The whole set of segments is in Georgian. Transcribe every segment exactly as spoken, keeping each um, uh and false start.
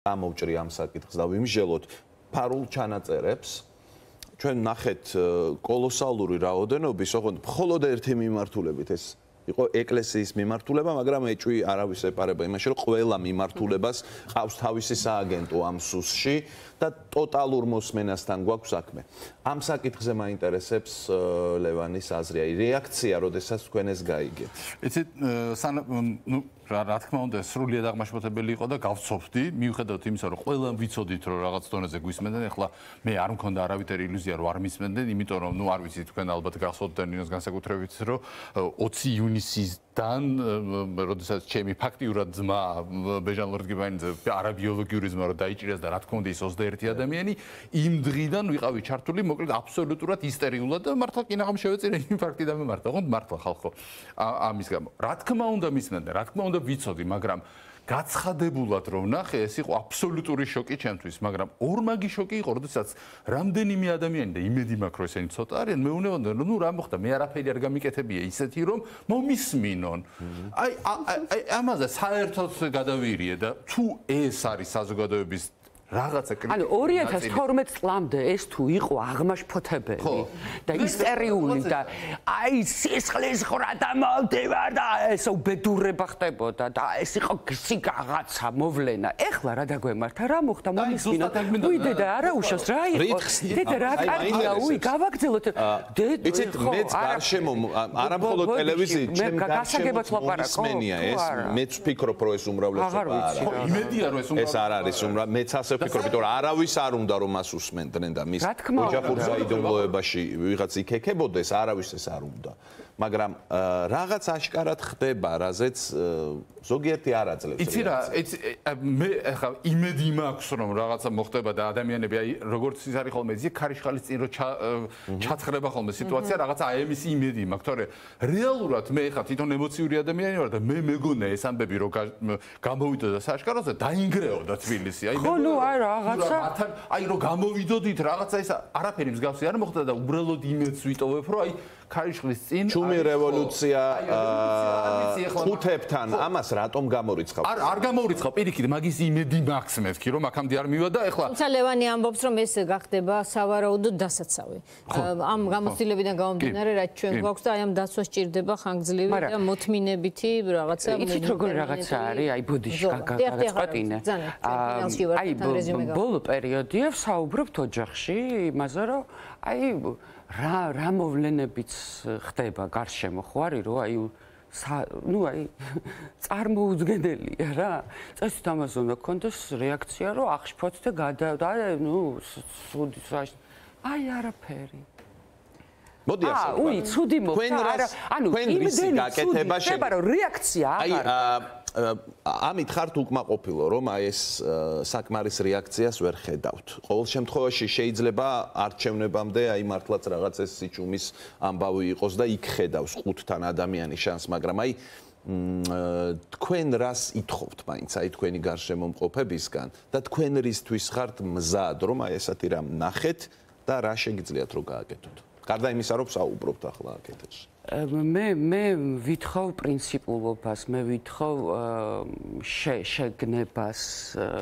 გამოვჭრი ამ საკითხს და ვიმსჯელოთ ფარულ ჩანაწერებს. ჩვენ ნახეთ კოლოსალური რაოდენობის, ოღონდ მხოლოდ ერთი მიმართულებით ეს იყო ეკლესიის მიმართულება, მაგრამ ეჭვი არავის ეპარება იმაში, რომ ყველა მიმართულებას ყავს თავისი სააგენტო ამ სუსში და ტოტალურ მოსმენასთან გვაქვს საქმე. ამ საკითხზე მაინტერესებს ლევანის აზრი, აი რეაქცია, როდესაც თქვენ ეს გაიგეთ. იცით, ნუ რა თქმა უნდა, სრულიად აღმაშფოთებელი იყო და გავცოფდი, მიუხედავად იმისა, რომ ყველა ვიცოდით, რომ რაღაც დონეზე გვისმენდნენ, ახლა მე არ მქონდა არავითარი ილუზია, რომ არ მისმენდნენ, იმიტომ რომ ნუ არ ვიცი თქვენ ალბათ გახსოვთ და ნინოს განსაკუთრებით, რომ ოცი ივნისიდან, როდესაც ჩემი ფაქტიურად ძმა ბეჟან ლორდგიბაინიძე არაბიოლოგიური ძმა რომ დაიჭირეს და რა თქმა უნდა ის ოცდაერთი ადამიანი, იმ დღიდან ვიყავი ჩართული, მოკლედ აბსოლუტურად ისტერიულად და მართლა კინაღამ შევეწირე იმ ფაქტი და მემართა, ოღონდ მართლა ხალხო ამის გამო. რა თქმა უნდა მისმენდნენ, რა თქმა უნდა ვიცოდი, მაგრამ გაცხადებულად რომ ნახე, ეს იყო აბსოლუტური შოკი ჩემთვის, მაგრამ ორმაგი შოკი იყო, როდესაც რამდენიმე ადამიანი და იმედი მაქვს, რომ ესენი ცოტა არიან, მეუბნებოდნენ, რომ ნუ რა მოხდა, მე არაფერი არ გამიკეთებია ისეთი, რომ მომისმინონ. აი, აი, ამაზე საერთოდ გადავირიე და თუ ეს არის საზოგადოების რაღაცა კრიტიკა. ანუ ორი ათას თორმეტ წლამდე ეს თუ იყო აღმაშფოთებელი და ისტერიული და აი სისხლის ხრა და მოვდივარ და ეს უბედურება ხდებოდა და ეს იყო გზი რაღაცა მოვლენა. ეხლა რა დაგვემართა, რა მოხდა, მომისმინოთ. უი დედა არა უშავს რა იყო? დედა რა კარგია, უი გავაგრძელოთ. დედა იცით, მეც გარშემო არა მხოლოდ ტელევიზიით, ჩემ გარშემო მოსმენია ეს, მეც ვფიქრობ, რომ ეს უმრავლესობა არა. იმედია რომ ეს უმრავლესობა ეს არ არის უმრავლესობა, მეც ასე ვფიქრობ, რომ არავის არ უნდა რომ მას უსმენდნენ და მის ოჯახურ საიდუმლოებაში ვიღაც იქექებოდეს, არავის ეს არ უნდა. მაგრამ რაღაც აშკარად ხდება, რაზეც ზოგიერთი არ აძლევს. იცი რა, მე ახლა იმედი მაქვს, რომ რაღაცა მოხდება და ადამიანები აი როგორც ის არის ხოლმე იცი ქარიშხალის წინ რომ ჩაცხრება ხოლმე სიტუაცია, რაღაცა აი ამის იმედი მაქვს, თორე რეალურად მე ახლა თვითონ ემოციური ადამიანი ვარ და მე მეგონა ეს ამბები რომ გამოვიდოდა სააშკაროზე, დაინგრეოდა თბილისი. აი ხო, ნუ აი რაღაცა აი რომ გამოვიდოდით რაღაცა ეს არაფერი მსგავსი არ მოხდა და უბრალოდ იმედს ვიტოვებ, რომ აი ქარიშხლის წინ ჩუმი რევოლუცია ხუთებთან ამას რატომ გამორიცხავ? არ არ გამორიცხავ, პირიქით, მაგის იმედი მაქვს მეთქი, რომ აქამდე არ მივა და ეხლა თუმცა ლევანი ამბობს, რომ ეს გახდება სავარაუდოდ დასაცავი. ამ გამოცდილებიდან გამომდინარე, რაც ჩვენ გვაქვს და აი ამ დაცვას ჭირდება ხანგრძლივი და მოთმინებითი რაღაცა. იცით როგორ რაღაცა არის, აი ბოდიში გაგაწყვეტინე. აი ბოლო პერიოდია ვსაუბრობთ ოჯახში იმაზე, რომ აი რა რა მოვლენებიც ხდება გარშემო, ხო არის, რომ აი ნუ აი წარმოუდგენელია რა. წესით ამაზე უნდა გქონდეს რეაქცია, რომ აღშფოთთ და გადა და ნუ სუდი აი არაფერი. მოდი ასე. აა, უი, ცუდი მოხდა. არა, ანუ იმდენი გაკეთება შეიძლება, რომ რეაქცია აღარ. აი ამით ხართ უკმაყოფილო, რომ აი ეს საკმარის რეაქციას ვერ ხედავთ. ყოველ შემთხვევაში შეიძლება არჩევნებამდე აი მართლაც რაღაც ეს სიჩუმის ამბავი იყოს და იქ ხედავს ხუთთან ადამიანი შანს, მაგრამ აი თქვენ რას ითხოვთ მაინც აი თქვენი გარშემომყოფებისგან და თქვენ რისთვის ხართ მზად, რომ აი ესეთი რამ ნახეთ და რა შეგიძლიათ რომ გააკეთოთ? გარდა იმისა, რომ საუბრობთ ახლა აკეთებს. მე მე ვითხოვ პრინციპულობას, მე ვითხოვ შეგნებას,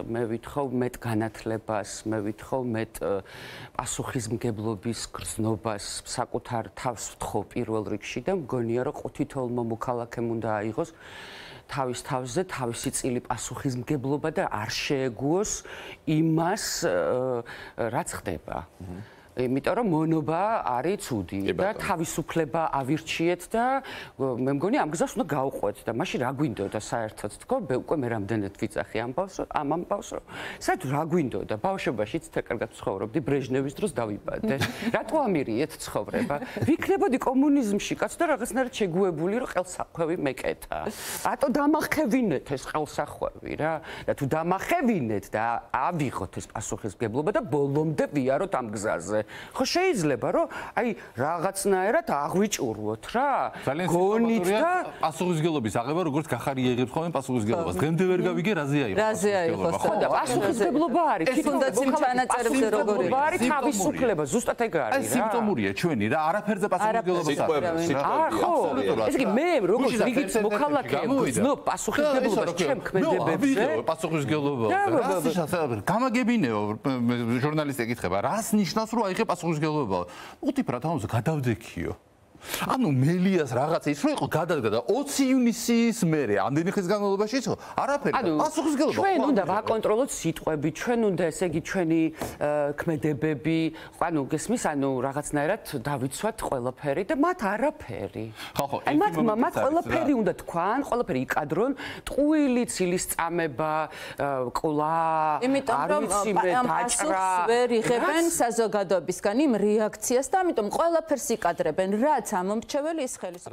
მე ვითხოვ მეტ განათლებას, მე ვითხოვ მეტ პასუხისმგებლობის გრძნობას, საკუთარ თავს ვთხოვ პირველ რიგში და მგონია, რომ თითოეულმა მოქალაქემ უნდა აიღოს თავის თავზე თავისი წილი პასუხისმგებლობა და არ შეეგუოს იმას, რაც ხდება. იმიტომ რომ მონობა არის ცუდი და თავისუფლება ავირჩიეთ და მე მგონი ამ გზას უნდა გავყვეთ და მაშინ რა გვინდოდა საერთოდ თქო, მე უკვე მე რამდენად ვიცახი ამ ბავშვს, ამ ამბავს, რომ საერთოდ რა გვინდოდა ბავშვობაშიც თა კარგად ცხოვრობდი, ბრეჟნევის დროს დავიბადე. რატო ამირიეთ ცხოვრება? ვიქნებოდი კომუნიზმში კაც და რაღაცნაირად შეგუებული, რომ ყელსახვევი მეკეთა. რატო დამახევინეთ ეს ყელსახვევი რა? და თუ დამახევინეთ და ავიღოთ ეს პასუხისმგებლობა და ბოლომდე ვიაროთ ამ გზაზე. ხო შეიძლება რომ აი რაღაცნაირად აღვიჭურვოთ რა გონით და პასუხისგებლობის აღება როგორც გახარი იღებს ხოლმე პასუხისგებლობას დღემდე ვერ გავიგე რაზე აიღო რაზე აიღო ხო და პასუხისგებლობა არის ეს თუნდაც იმ ჩანაწერებზე როგორ არის არის თავისუფლება ზუსტად ეგ არის რა ეს სიმპტომურია ჩვენი რა არაფერზე პასუხისგებლობას არ ხო ეს კი მე როგორც რიგით მოქალაქე ვგრძნობ პასუხისგებლობას ჩემ ქმედებებზე პასუხისგებლობა გამაგებინეო ჟურნალისტი ეკითხება რას ნიშნავს რომ აიღე პასუხისგებლობა უთიფრად ამაზე გადავდექიო ანუ მელიას რაღაცა ის რო იყო გადადგა და ოცი ივნისის მერე ამდენი ხის განმავლობაში იცო არაფერი პასუხისგებლობა ჩვენ უნდა ვაკონტროლოთ სიტყვები ჩვენ უნდა ესე იგი ჩვენი ქმედებები ანუ გესმის ანუ რაღაცნაირად დავიცვათ ყველაფერი და მათ არაფერი ხო ხო აი მათ მათ ყველაფერი უნდა თქვან ყველაფერი იკადრონ ტყუილი ცილის წამება ყლა იმიტომ რომ ამ პასუხს ვერ იღებენ საზოგადოებისგან იმ რეაქციას და ამიტომ ყველაფერს იკადრებენ რაც ამომრჩეველი ის ხელის